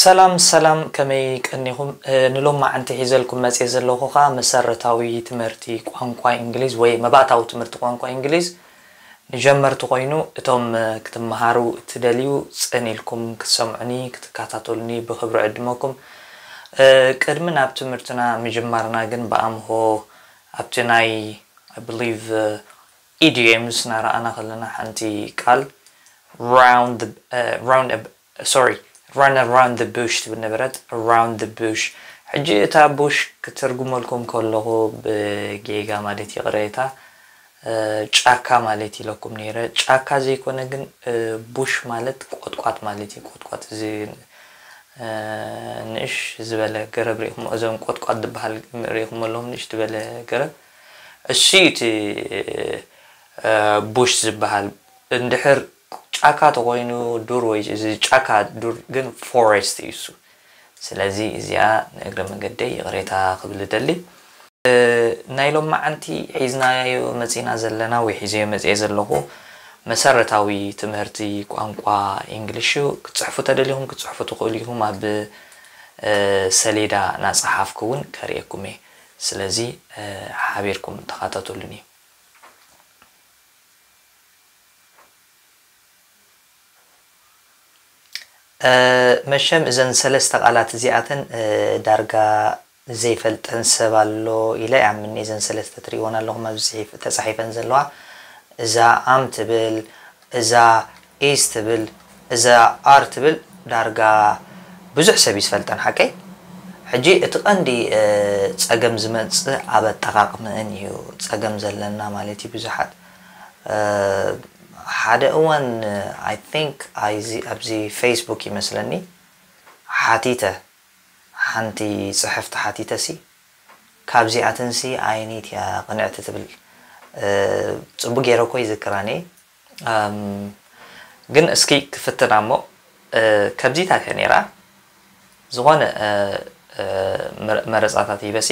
ሰላም ሰላም፣ ከመይ ቀኒኹም? እ፣ ንሎማዓንቲ ሒዘልኩም መጽየ ዘለኹ ኸኣ መሰረታዊ ትምህርቲ ቋንቋ እንግሊዝ ወይ መባእታዊ ትምህርቲ ቋንቋ እንግሊዝ ንጀመርቲ ኮይኑ፣ እቶም፣ እ፣ ክትመሃሩ እትደልዩ ጽን ኢልኩም ክትሰምዑኒ፣ ክትከታተሉኒ ብኽብሪ ዕድመኩም። እ፣ ቅድሚ ናብ ትምህርትና ምጅማርና ግን ብኣምሆ ኣብቲ ናይ፣ I believe፣ እ፣ ኢዲየምስ እናረኣና ከለና ሓንቲ ቃል round the፣ እ፣ round ab-፣ sorry፣ run around the bush ትብል ነበረት፣ around the bush። ሕጂ እታ ቡሽ ክትርጉመልኩም ከለኹ ብጌጋ ማለት ይቕሬታ፣ እ፣ ጫካ ማለት ኢለኩም ነይረ። ጫካ ዘይኮነ ግን፣ እ፣ ቡሽ ማለት ቆጥቋጥ ማለት እዩ። ቆጥቋጥ እዚ፣ እ፣ ንእሽ ዝበለ ገረብ ርኢኹም፣ እዞም ቆጥቋጥ ዝበሃል ርኢኹም ኣለኹም፣ ንእሽ ዝበለ ገረብ። እሱ እዩ እቲ፣ እ፣ ቡሽ ዝበሃል። እንድሕር ጫካ ተኾይኑ ዱር ወይ እዚ ጫካ ዱር ግን ፎረስት እዩ እሱ። ስለዚ እዚኣ ንእግረ መንገደይ ይቕሬታ ክብል እደሊ። እ፣ ናይ ሎማዓንቲ ሒዝናዮ መጺና ዘለና ወይ ሒዘዮ መጺኤ ዘለኹ መሰረታዊ ትምህርቲ ቋንቋ ኢንግሊሽ እዩ። ክትጽሕፉ ተደሊኹም ክትጽሕፉ ትኽእሉ ኢኹም። ኣብ፣ እ፣ ሰሌዳ እናጸሓፍኩ እውን ከርእየኩም እየ። ስለዚ፣ እ፣ ሓቢርኩም ተኻታተሉኒ። እ፣ መሸም እዘን ሰለስተ ቃላት እዚኣተን፣ እ፣ ዳርጋ ዘይፈልጠን ሰብ ኣሎ ኢለ ይኣምን። እዘን ሰለስተ ትርእይወን ኣለኹም ኣብዚ ጽሒፍ-፣ ተጻሒፈን ዘለዋ። እዛ ኣም ትብል፣ እዛ ኢዝ ትብል፣ እዛ ኣር ትብል ዳርጋ ብዙሕ ሰብ እዩ ዝፈልጠን፣ ሓቀይ? ሕጂ እቲ ቀንዲ፣ እ፣ ጸገም ዝመጽእ ኣብ ኣጠቓቕምእን እዩ ጸገም ዘለና ማለት እዩ። ብዙሓት፣ እ፣ ሓደ እዋን፣ I think፣ ኣይዚ-፣ ኣብዚ ፌስቡክ ይመስለኒ ሓቲተ፣ ሓንቲ ጽሕፍቲ ሓቲተሲ፣ ካብዚኣተንሲ ኣየነይቲ እያ ቅንዕቲ ትብል? እ፣ ጽቡቅ ገይረ እኮ ይዝክራኒ። ኣም፣ ግን እስኪ ክፍትና እሞ፣ እ፣ ከምዚታት እያ ነይራ። ዝኾነ፣ እ፣ እ፣ መረ-፣ መረጻታት ሂበሲ።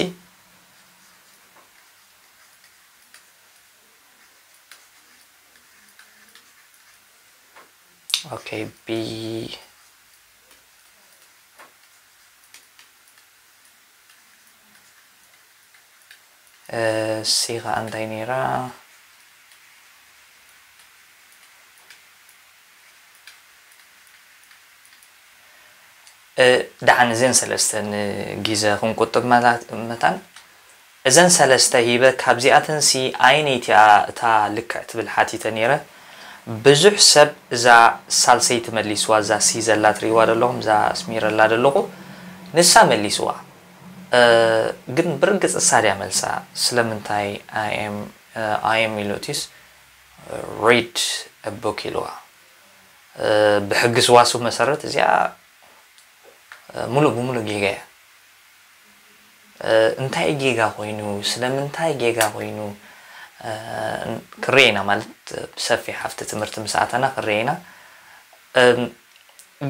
ኦኬ፣ ቢ፣ እ፣ ሲ ኸኣ እንታይ ነይራ? እ፣ ደሓን እዘን ሰለስተ ንጊዘ ክንቁጥብ መላ-፣ መታን እዘን ሰለስተ ሂበ፣ ካብዚኣተንሲ ኣየነይቲ እያ እታ ልክዕ ትብል ሓቲተ ነይረ። ብዙሕ ሰብ እዛ ሳልሰይቲ መሊስዋ፣ እዛ ሲ ዘላ ትርእይዋ ዘለኹም፣ እዛ ኣስሚረላ ዘለኹ፣ ንሳ መሊስዋ። እ፣ ግን ብርግጽ እሳ ድያ መልሳ? ስለምንታይ I am፣ እ፣ I am ኢሉ እቲስ read a book ኢልዋ? እ፣ ብሕጊ ስዋስው መሰረት እዚኣ፣ እ፣ ሙሉእ ብሙሉእ ጌጋ እያ። እ፣ እንታይ ጌጋ ኮይኑ፣ ስለምንታይ ጌጋ ኮይኑ፣ እ፣ ክርኤ ኢና ማለት ብሰፊሕ ኣብቲ ትምህርቲ ምስ ኣተና ክርኤ ኢና። እም፣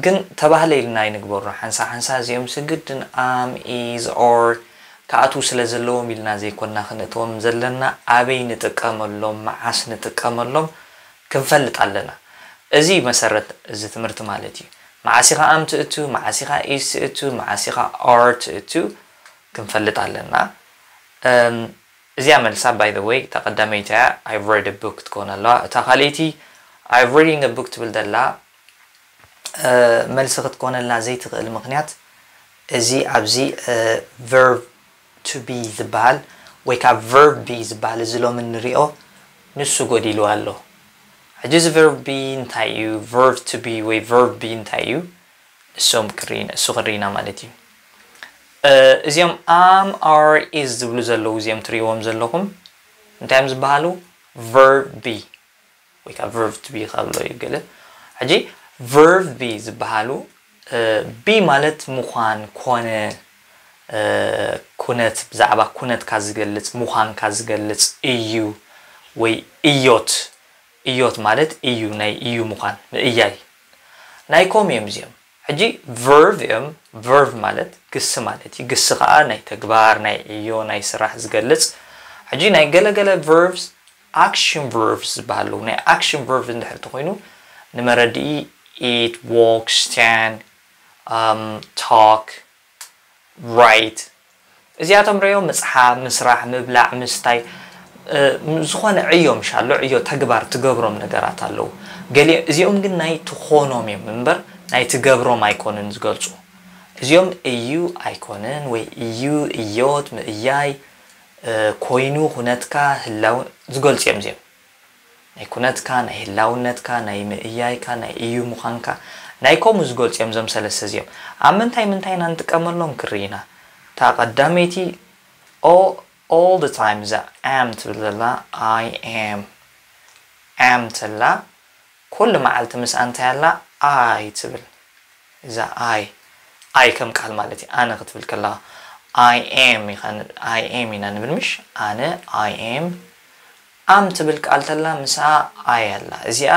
ግን ተባህለ ኢልና ኣይንግበሮ። ሓንሳ ሓንሳ እዚኦም ስግድን ኣም፣ ኢዝ፣ ኦር ክኣትዉ ስለ ዘለዎም ኢልና ዘይኮንና ክነእትዎም ዘለና፣ ኣበይ ንጥቀመሎም፣ መዓስ ንጥቀመሎም ክንፈልጥ ኣለና። እዚ መሰረት እዚ ትምህርቲ ማለት እዩ። መዓስ ኢኻ ኣም ትእቱ፣ መዓስ ኢኻ ኢዝ ትእቱ፣ መዓስ ኢኻ ኦር ትእቱ ክንፈልጥ ኣለና። እም፣ እዚኣ መልሳ፣ by the way፣ እታ ቀዳመይቲ እያ፣ I've read a book ትኮን ኣለዋ። እታ ካልኣይቲ፣ I've reading a book ትብል ዘላ፣ እ፣ መልሲ ክትኮነላ ዘይትኽእል ምኽንያት፣ እዚ ኣብዚ፣ እ፣ verb to be ዝበሃል ወይ ካብ verb be ዝበሃል እዚ ሎሚ ንሪኦ፣ ንሱ ጎዲልዋ ኣሎ። ሕጂ እዚ verb be እንታይ እዩ? Verb to be ወይ verb be እንታይ እዩ? እሶም ክርኢና፣ እሱ ክርኢና ማለት እዩ። እ፣ እዚኦም am፣ are፣ is ዝብሉ ዘለዉ፣ እዚኦም ትርእይዎም ዘለኹም እንታይ እዮም ዝበሃሉ? Verb be ወይ ከዓ verb to be ካብ ኣሎ እዩ ገለ። ሕጂ verb be ዝበሃሉ፣ እ፣ be ማለት ምዃን፣ ኮነ፣ እ፣ ኩነት፣ ብዛዕባ ኩነትካ ዝገልጽ፣ ምዃንካ ዝገልጽ፣ እዩ ወይ እዮት። እዮት ማለት እዩ፣ ናይ እዩ ምዃን፣ ምእያይ። ናይ ኮም እዮም እዚኦም። ሕጂ verb እዮም። Verb ማለት ግሲ ማለት እዩ። ግሲ ከዓ ናይ ተግባር፣ ናይ ዕዮ፣ ናይ ስራሕ ዝገልጽ። ሕጂ ናይ ገለገለ verbs action verbs ዝበሃሉ። ናይ action verb እንድሕር ተኮይኑ ንመረድኢ eat፣ walk፣ stand፣ um, talk, write። እዚኣቶም ርእዮ ምጽሓፍ፣ ምስራሕ፣ ምብላዕ፣ ምስታይ፣ እ፣ ዝኾነ ዕዮ ምሻሎ፣ ዕዮ ተግባር ትገብሮም ነገራት ኣለዉ። ገሊ እዚኦም ግን ናይ ትኾኖም እዮም እምበር ናይ ትገብሮም ኣይኮኑን ዝገልጹ። እዚኦም እዩ ኣይኮንን ወይ እዩ እዮት ምእያይ፣ እ፣ ኮይኑ ኩነትካ ህላው ዝገልጹ እዮም እዚኦም። ናይ ኩነትካ፣ ናይ ህላውነትካ፣ ናይ ምእያይካ፣ ናይ እዩ ምዃንካ፣ ናይ ከምኡ ዝገልጹ እዮም እዞም ሰለስተ እዚኦም። ኣብ ምንታይ ምንታይ ኢና ንጥቀመሎም ክርኢ ኢና። እታ ቀዳመይቲ all, all the time እዛ am ትብል ዘላ I am። Am ተላ ኩሉ መዓልቲ ምስኣ እንታይ ኣላ? I ትብል። እዛ I፣ I ከም ቃል ማለት እዩ። ኣነ ክትብል ከለኻ I am ኢኻ ን-፣ I am ኢና ንብል ምሽ? ኣነ I am። Am ትብል ቃል ተላ ምስኣ I ኣላ። እዚኣ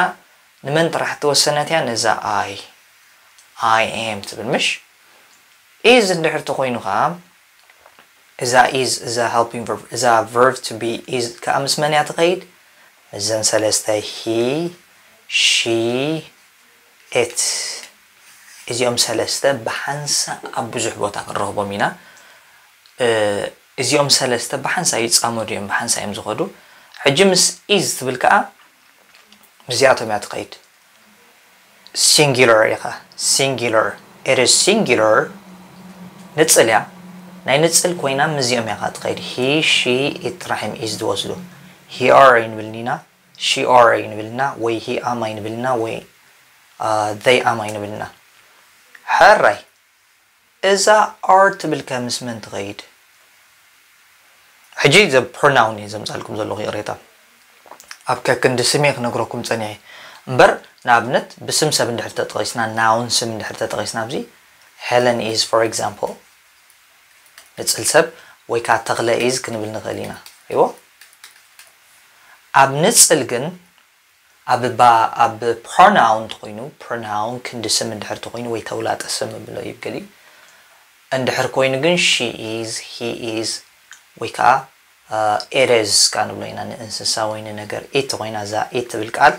ንመን ጥራሕ እተወሰነት እያ? ነዛ I። I am ትብል ምሽ? Is እንድሕር ተኾይኑ ኸዓ እዛ is፣ እዛ helping verb፣ እዛ verb to be is ከኣ ምስ መን እያ ትኸይድ? ምስዘን ሰለስተ he፣ she፣ it። እዚኦም ሰለስተ ብሓንሳእ ኣብ ብዙሕ ቦታ ክንረኽቦም ኢና። እ፣ እዚኦም ሰለስተ ብሓንሳእ ይጻመዱ እዮም፣ ብሓንሳእ እዮም ዝኸዱ። ሕጂ ምስ is ትብል ከኣ ምስዚኣቶም እያ ትኸይድ። ሲንጉላር ኢኻ፣ ሲንጉላር። It is singular። ንጽል እያ። ናይ ንጽል ኮይና ምስዚኦም እያ ከኣ ትኸይድ። He፣ she፣ it ጥራሕ እዮም is ዝወስዱ። He፣ her ኣይንብልን ኢና፣ she፣ her ኣይንብልና፣ ወይ he፣ am ኣይንብልና፣ ወይ፣ አ፣ they፣ am ኣይንብልና። ሕራይ። እዛ are ትብል ከ ምስ መን ትኸይድ? ሕጂ ዘ ፕሮናውን እየ ዘምጻልኩም ዘለኹ፣ ይቕሬታ። ኣብ ከክንዲ ስም እየ ክነግረኩም ጸኒሐ። እምበር ንኣብነት ብስም ሰብ እንድሕር ተጠቒስና፣ ናውን ስም እንድሕር ተጠቒስና፣ ኣብዚ Helen is for example ንጽል ሰብ፣ ወይ ከኣ ተኽለ is ክንብል ንኽእል ኢና። ይዎ። ኣብ ንጽል ግን ኣብ ባ-፣ ኣብ ፕሮናውን ተኾይኑ፣ ፕሮናውን ክንዲ ስም እንድሕር ተኾይኑ ወይ ተውላጠ ስም ብሎ እዩ ገሊኡ። እንድሕር ኮይኑ ግን she is፣ he is ወይ ከኣ፣ አ፣ it is ከኣ ንብሎ ኢና። ንእንስሳ ወይ ንነገር it ተኾይና፣ እዛ it ትብል ቃል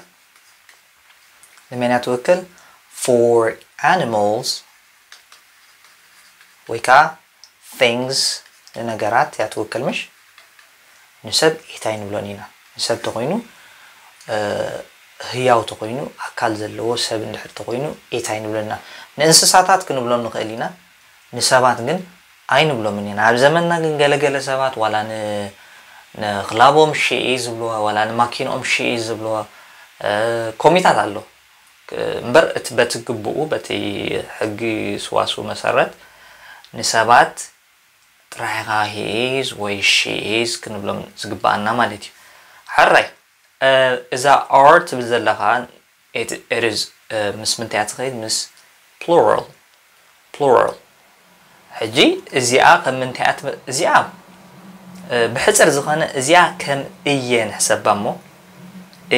ንመን እያ ትውክል? For animals ወይ ከኣ things ንነገራት እያ ትውክል ምሽ? ንሰብ it ኣይንብሎን ኢና። ንሰብ ተኾይኑ፣ እ፣ ህያው ተኾይኑ፣ ኣካል ዘለዎ ሰብ እንድሕር ተኾይኑ it ኣይንብሎን ኢና። ንእንስሳታት ክንብሎም ንኽእል ኢና፣ ንሰባት ግን ኣይንብሎምን ኢና። ኣብ ዘመንና ግን ገለገለ ሰባት ዋላ ን-፣ ንኽላቦም she is ዝብልዋ፣ ዋላ ንማኪንኦም she is ዝብልዋ፣ እ፣ ኮሚታት ኣሎ። ክ-፣ እምበር እቲ በቲ ግቡኡ፣ በቲ ሕጊ ስዋስው መሰረት ንሰባት ጥራሕ ኢኻ he is ወይ she is ክንብሎም ዝግብኣና ማለት እዩ። ሕራይ፣ እ፣ እዛ are ትብል ዘለኻ it፣ it is፣ እ፣ ምስ ምንታይ እያ ትኸይድ? ምስ ፕሉራል፣ ፕሉራል። ሕጂ እዚኣ ከም ምንታይ እያ ትመ-፣ እዚኣ፣ እ፣ ብሕጽር ዝኾነ እዚኣ ከም እየ ንሕሰባ እሞ፣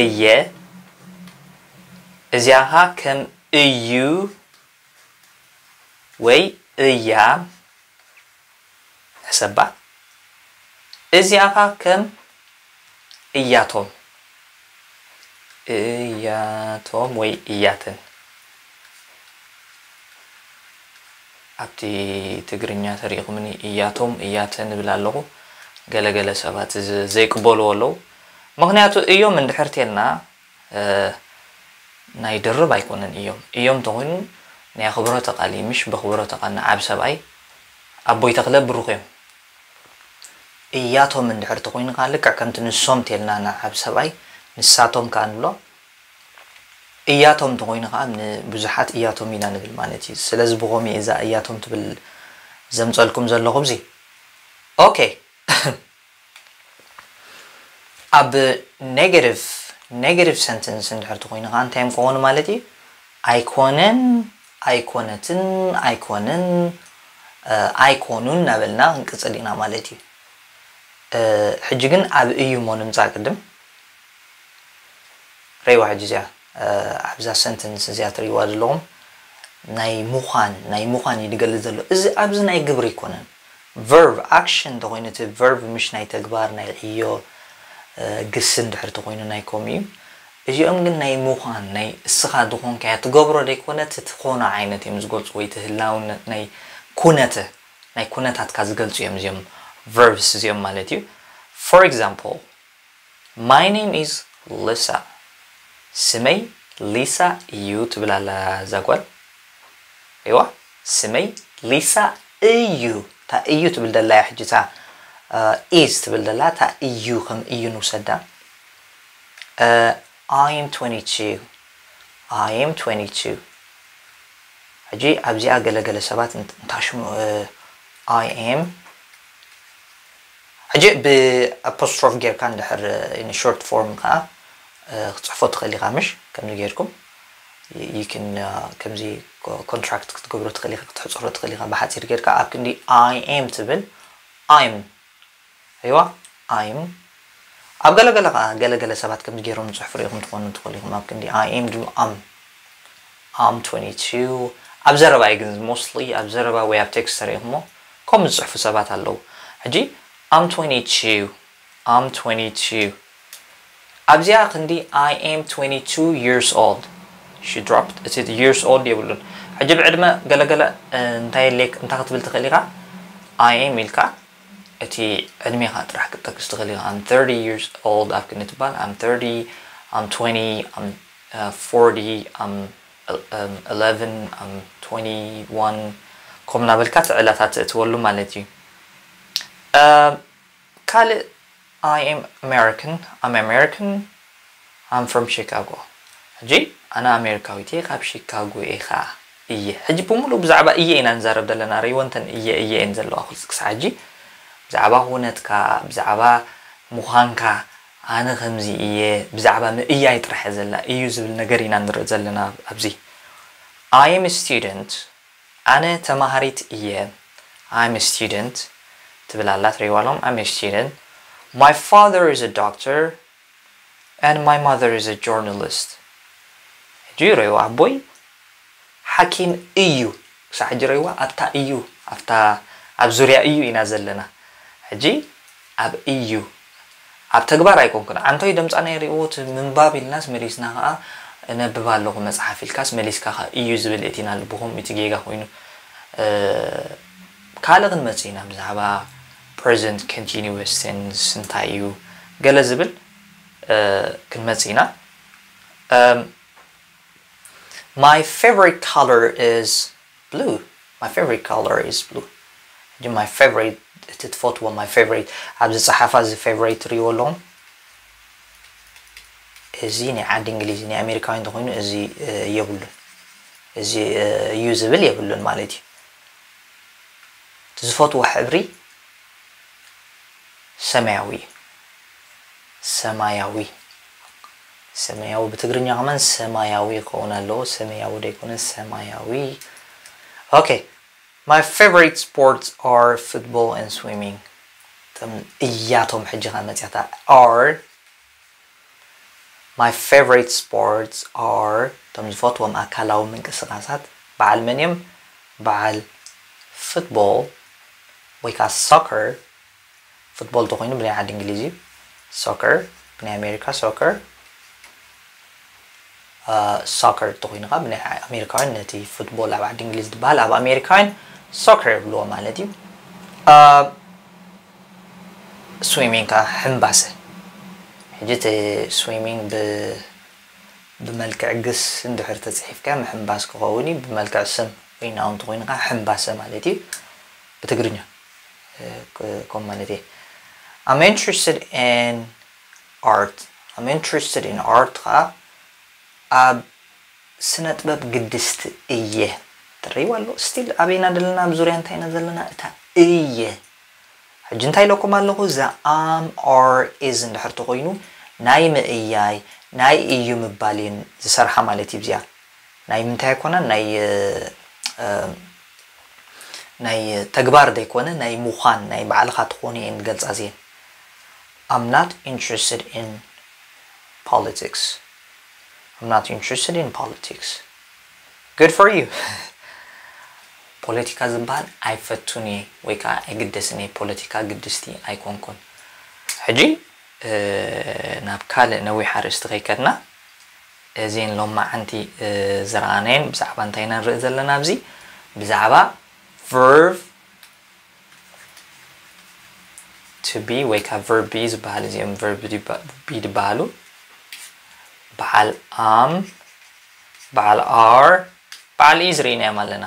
እየ፣ እዚኣ ኸኣ ከም እዩ ወይ እያ ንሕሰባ። እዚኣ ኸኣ ከም እያቶም፣ እያቶም ወይ እያትን። ኣብቲ ትግርኛ ተሪእኹምኒ እያቶም፣ እያትን እብል ኣለኹ። ገለ ገለ ሰባት ዝ-፣ ዘይቅበልዎ ኣለዉ። ምኽንያቱ እዮም እንድሕር ቴልና፣ እ፣ ናይ ድርብ ኣይኮነን እዮም። እዮም ተኾይኑ ናይ ኣኽብሮተ ቃል እዩ፣ ምሽ? በኽብሮተ ቃል ንዓብ ሰብኣይ ኣቦይ ተኽለ ብሩኽ እዮም። እያቶም እንድሕር ተኾይኑ ከኣ ልክዕ ከምቲ ንሶም ቴልና ንዓብ ሰብኣይ ንሳቶም ከኣ ንብሎ። እያቶም ተኾይኑ ከኣ ንብዙሓት እያቶም ኢና ንብል ማለት እዩ። ስለዚ ብኸምኡ እዛ እያቶም ትብል ዘምጸልኩም ዘለኹ ኣብዚ። ኦኬ። ኣብ ኔጋቲቭ፣ ኔጋቲቭ ሰንተንስ እንድሕር ተኾይኑ ከኣ እንታይ እዮም ክኾኑ ማለት እዩ? ኣይኮነን፣ ኣይኮነትን፣ ኣይኮንን፣ እ፣ ኣይኮኑን እናበልና ክንቅጽል ኢና ማለት እዩ። እ፣ ሕጂ ግን ኣብ እዩ እሞ ንምጻእ ቅድም። ረይዋ ሕጂ እዚኣ፣ እ፣ ኣብዛ ሰንተንስ እዚኣ ትርእይዋ ዘለኹም ናይ ምዃን፣ ናይ ምዃን እዩ ዝገልጽ ዘሎ። እዚ ኣብዚ ናይ ግብሪ ኣይኮነን። ቨርብ፣ ኣክሽን እንተኾይኑ እቲ ቨርብ ምሽ ናይ ተግባር፣ ናይ ዕዮ፣ እ፣ ግሲ እንድሕር ተኾይኑ ናይ ከምኡ እዩ። እዚኦም ግን ናይ ምዃን ናይ እስኻ ዝኾንካዮ ትገብሮ ዘይኮነ እቲ ትኾኖ ዓይነት እዮም ዝገልፁ ወይ እቲ ህላውነት ናይ ኩነተ ናይ ኩነታትካ ዝገልፁ እዮም እዚኦም verbs እዚኦም ማለት እዩ። For example, my name is Lisa. ስመይ ሊሳ እዩ ትብል ኣላ እዛ ጓል። እዋ ስመይ ሊሳ እዩ። እታ እዩ ትብል ደላ እያ ሕጂ እታ is ትብል ደላ እታ እዩ ከም እዩ ንውሰዳ። I am twenty-two. I am twenty-two. ሕጂ ኣብዚኣ ገለገለ ሰባት እንታሽሙ I am ሕጂ ብ apostrophe ጌርካ እንድሕር in short form ከዓ ክትፅሕፎ ትኽእል ኢኻ ምሽ ከምዚ ጌርኩም you can ከምዚ contract ክትገብሮ ትኽእል ኢኻ ክትሕፅሮ ትኽእል ኢኻ ብሓፂር ጌርካ ኣብ ክንዲ I am ትብል I'm እዋ I'm ኣብ ገለገለ ከዓ ገለገለ ሰባት ከምዚ ገይሮም ዝፅሕፉ ርኢኹም ትኾኑ ትኽእሉ ኢኹም ኣብ ክንዲ I am ድም am I'm twenty-two ኣብ ዘረባ እዩ ግን mostly ኣብ ዘረባ ወይ ኣብ text ተሪኢኹሞ ከምኡ ዝፅሕፉ ሰባት ኣለዉ ሕጂ I'm twenty-two I'm twenty-two ኣብዚኣ ክንዲ I am twenty-two years old she dropped እቲ years old የብሉን ሕጂ ብዕድመ ገለገለ እንታይ ሌክ እንታይ ክትብል ትኽእል ኢኻ I am ኢልካ እቲ ዕድሜኻ ጥራሕ ክትጠቅስ ትኽእል ኢኻ I'm thirty years old ኣብ ክንዲ ትባል I'm thirty I'm twenty I'm uh, forty I'm um, eleven I'm twenty-one ከምኡ እናበልካ እቲ ዕላታት ትእትወሉ ማለት እዩ ካልእ I am American I'm American I'm from Chicago ሕጂ ኣነ ኣሜሪካዊት እየ ካብ ሺካጎ እየ ከዓ እየ ሕጂ ብምሉእ ብዛዕባ እየ ኢና ንዛረብ ዘለና ርይወንተን እየ እየ እየን ዘለዋ ክሳዕ ሕጂ ብዛዕባ ኩነትካ ብዛዕባ ምዃንካ ኣነ ከምዚ እየ ብዛዕባ ምእያይ ጥራሕ እየ ዘላ እዩ ዝብል ነገር ኢና ንርኢ ዘለና ኣብዚ I am student ኣነ ተማሃሪት እየ I'm student ትብል ኣላ ትሪዋሎም I'm student my father is a doctor and my mother is a journalist ሕጂ ረዩ ኣቦይ ሓኪም እዩ ክሳዕ ሕጂ ረይዋ ኣብታ እዩ ኣብታ ኣብ ዙርያ እዩ ኢና ዘለና ሕጂ ኣብ እዩ ኣብ ተግባር ኣይኮንኩን ዓንቶይ ደምፃና የርእዎ እቲ ምንባብ ኢልናስ መሊስና ከዓ እነብብ ኣለኹ መፅሓፍ ኢልካስ መሊስካ ከዓ እዩ ዝብል እቲና ልብኹም እቲ ጌጋ ኮይኑ ካልእ ክንመፅእ ኢና ብዛዕባ present continuous tense እንታይ እዩ ገለ ዝብል ክንመፅእ ኢና My favorite color is blue. My favorite color is blue. ሕጂ my favorite እቲ ትፈትዎ my favorite ኣብዚ ፀሓፋ እዚ favorite ትሪእዎ ኣለኹም እዚ ናይ ዓዲ እንግሊዝ ናይ ኣሜሪካውያን እንተኮይኑ እዚ የብሉን እዚ እዩ ዝብል የብሉን ማለት እዩ ዝፈትዎ ሕብሪ ሰማያዊ ሰማያዊ ሰማያዊ ብትግርኛ ከማን ሰማያዊ ክኸውን ኣለዎ ሰማያዊ ዘይኮነ ሰማያዊ okay my favorite sports are football and swimming እቶም እያቶም ሕጂ ከመፅያታ are my favorite sports are እቶም ዝፈትዎም ኣካላዊ ምንቅስቃሳት በዓል መን እዮም በዓል football ወይ ከዓ soccer ፉትቦል ተኮይኑ ብናይ ዓዲ እንግሊዝ እዩ soccer ብናይ ኣሜሪካ soccer soccer ተኮይኑ ከዓ ብናይ ኣሜሪካውያን ነቲ ፉትቦል ኣብ ዓዲ እንግሊዝ ዝበሃል ኣብ ኣሜሪካውያን soccer ይብልዎ ማለት እዩ swimming ከዓ ሕምባሰ ሕጂ እቲ swimming ብመልክዕ ግስ እንድሕር ተፅሒፍካ ምሕምባስ ክኸውን እዩ ብመልክዕ ስም ወይ noun ተኮይኑ ከዓ ሕምባሰ ማለት እዩ ብትግርኛ ከም ማለት እየ I'm interested in art I'm interested in art ከዓ ኣብ ስነ ጥበብ ግድስቲ እየ ትረይዋ ኣሎ still ኣበይና ዘለና ኣብ ዙርያ እንታይ ኢና ዘለና እታ እየ ሕጂ እንታይ ኢለኩም ኣለኹ እዛ am are is እንድሕር ተኮይኑ ናይ ምእያይ ናይ እዩ ምባል እየን ዝሰርሓ ማለት እዩ እዚኣ ናይ ምንታይ ኣይኮነን ናይ ናይ ተግባር ዘይኮነ ናይ ምዃን ናይ ባዕልኻ ትኾኑ እየን ዝገልፃ እዚአን I'm not interested in politics I'm not interested in politics good for you ፖለቲካ ዝበሃል ኣይፈቱን እየ ወይ ከዓ ኣይግደስን እየ ፖለቲካ ግድስቲ ኣይኮንኩን ሕጂ ናብ ካልእ ነዊሕ ኣርእስቲ ከይከድና እዚን ሎማዓንቲ ዝረኣናየን ብዛዕባ እንታይ ኢና ንርኢ ዘለና ኣብዚ ብዛዕባ verb to be ወይ ከዓ verb be ዝበሃል እዚኦም verb be ዝበሃሉ በዓል am በዓል are በዓል is ርኢናዮም ኣለና።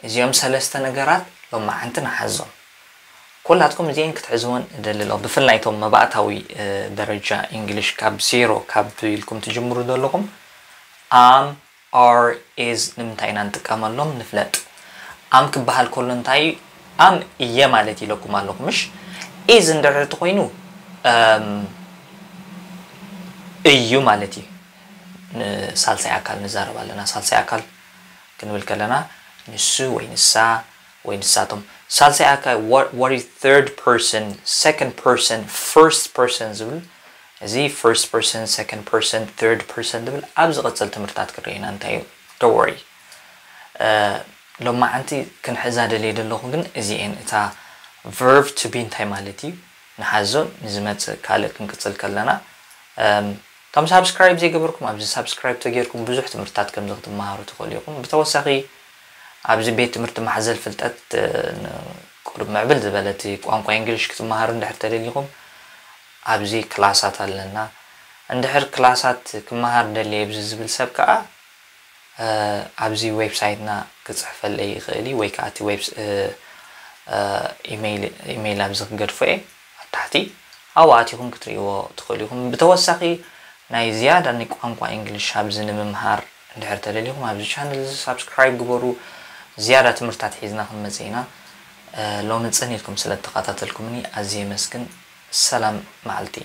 እዚኦም ሰለስተ ነገራት ሎማዓንቲ ንሓዞም። ኩላትኩም እዚኤን ክትሕዝወን እደሊ ኣለኹ። ብፍላይ እቶም መባእታዊ ደረጃ እንግሊሽ ካብ ዜሮ ካብ ኢልኩም ትጅምሩ ዘለኹም am are is ንምንታይ ኢና ንጥቀመሎም ንፍለጥ። am ክበሃል ከሎ እንታይ እዩ? am እየ ማለት ኢለኩም ኣለኹ ምሽ? is እንድሕር ተኮይኑ እዩ ማለት እዩ። ንሳልሳይ ኣካል ንዛረብ ኣለና። ሳልሳይ ኣካል ክንብል ከለና ንሱ ወይ ንሳ ወይ ንሳቶም። ሳልሳይ ኣካል what is third person, second person, first person ዝብል እዚ first person, second person, third person ዝብል ኣብ ዝቐፅል ትምህርታት ክንርኢ ኢና። እንታይ እዩ? Don't worry። ሎማዓንቲ ክንሕዛ ደልየ ዘለኹ ግን እዚኤን እታ verb to be እንታይ ማለት እዩ ንሓዞ። ንዝመፅእ ካልእ ክንቅፅል ከለና እቶም ሳብስክራይብ ዘይገበርኩም ኣብዚ ሳብስክራይብ ተጌርኩም ብዙሕ ትምህርትታት ከምዚ ክትመሃሩ ትኽእሉ ኢኹም። ብተወሳኺ ኣብዚ ቤት ትምህርቲ ማሕዘል ፍልጠት ቁሩብ ምዕብል ዝበለት ቋንቋ እንግሊሽ ክትመሃሩ እንድሕር ተደሊኹም ኣብዚ ክላሳት ኣለና። እንድሕር ክላሳት ክመሃር ደልየ ብዚ ዝብል ሰብ ከዓ ኣብዚ ዌብሳይትና ክፅሕፈለይ ይኽእል እዩ ወይ ከዓ እቲ ኢሜይል ኣብዚ ክገድፎ እየ ኣብ ታሕቲ ኣብኡ ኣቲኹም ክትርእይዎ ትኽእሉ ኢኹም። ብተወሳኺ ናይ ዝያዳ ናይ ቋንቋ እንግሊሽ ኣብዚ ንምምሃር እንድሕር ተደሊኹም ኣብዚ ቻነል እዚ ሳብስክራይብ ግበሩ። ዝያዳ ትምህርታት ሒዝና ክንመፅእ ኢና። ሎሚ ፅን ኢልኩም ስለ ተኸታተልኩምኒ ኣዝየ የመስግን። ሰላም መዓልቲ።